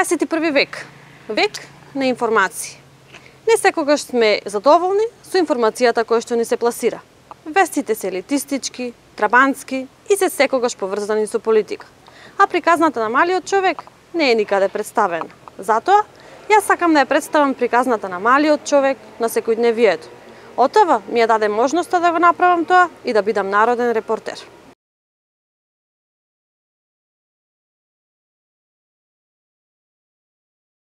21 век. Век на информации. Не секогаш сме задоволни со информацијата која што ни се пласира. Вестите се елитистички, трабантски и се секогаш поврзани со политика. А приказната на малиот човек не е никаде представена. Затоа, јас сакам да ја представам приказната на малиот човек на секојдневието. ОТВ ми ја даде можноста да го направам тоа и да бидам народен репортер.